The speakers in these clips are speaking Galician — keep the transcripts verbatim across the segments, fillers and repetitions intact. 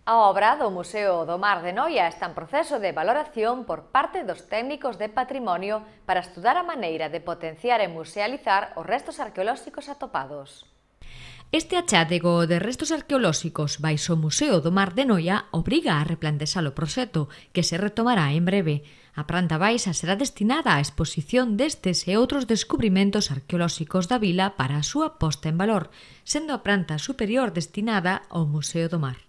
A obra do Museo do Mar de Noia está en proceso de valoración por parte dos técnicos de patrimonio para estudar a maneira de potenciar e musealizar os restos arqueolóxicos atopados. Este achádego de restos arqueolóxicos baixo o Museo do Mar de Noia obriga a replantear o proxecto, que se retomará en breve. A planta baixa será destinada á exposición destes e outros descubrimentos arqueolóxicos da vila para a súa posta en valor, sendo a planta superior destinada ao Museo do Mar.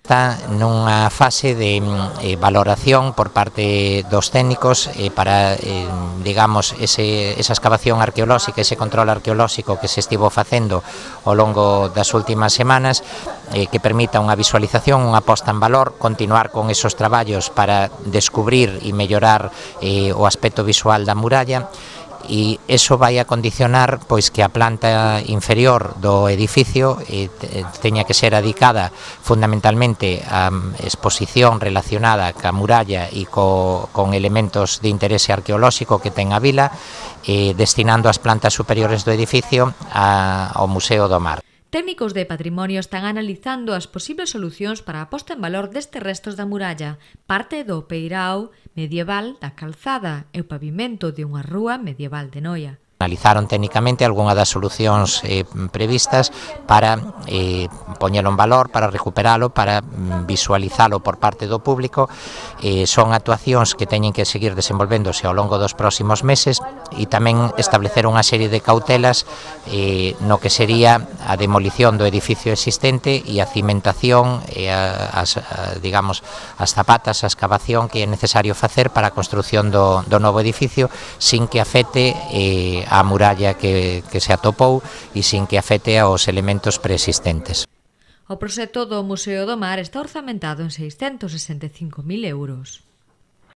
Está nunha fase de eh, valoración por parte dos técnicos eh, para, eh, digamos, ese, esa excavación arqueolóxica, ese control arqueolóxico que se estivo facendo ao longo das últimas semanas, eh, que permita unha visualización, unha posta en valor, continuar con esos traballos para descubrir e mellorar eh, o aspecto visual da muralla, e iso vai a condicionar pois que a planta inferior do edificio eh, teña que ser adicada fundamentalmente a exposición relacionada ca muralla e co, con elementos de interese arqueolóxico que ten a vila, eh, destinando as plantas superiores do edificio a, ao Museo do Mar. Técnicos de patrimonio están analizando as posibles solucións para a posta en valor destes restos da muralla, parte do peirao medieval da calzada e o pavimento de unha rúa medieval de Noia. Analizaron técnicamente algunha das solucións eh, previstas para eh, poñelo en valor, para recuperalo, para mm, visualizalo por parte do público. Eh, son actuacións que teñen que seguir desenvolvéndose ao longo dos próximos meses e tamén establecer unha serie de cautelas eh, no que sería a demolición do edificio existente e a cimentación e a, as, a, digamos, as zapatas, a excavación que é necesario facer para a construción do, do novo edificio sin que afecte eh, a muralla que, que se atopou e sin que afecte aos elementos preexistentes. O proxecto do Museo do Mar está orzamentado en seiscentos sesenta e cinco mil euros.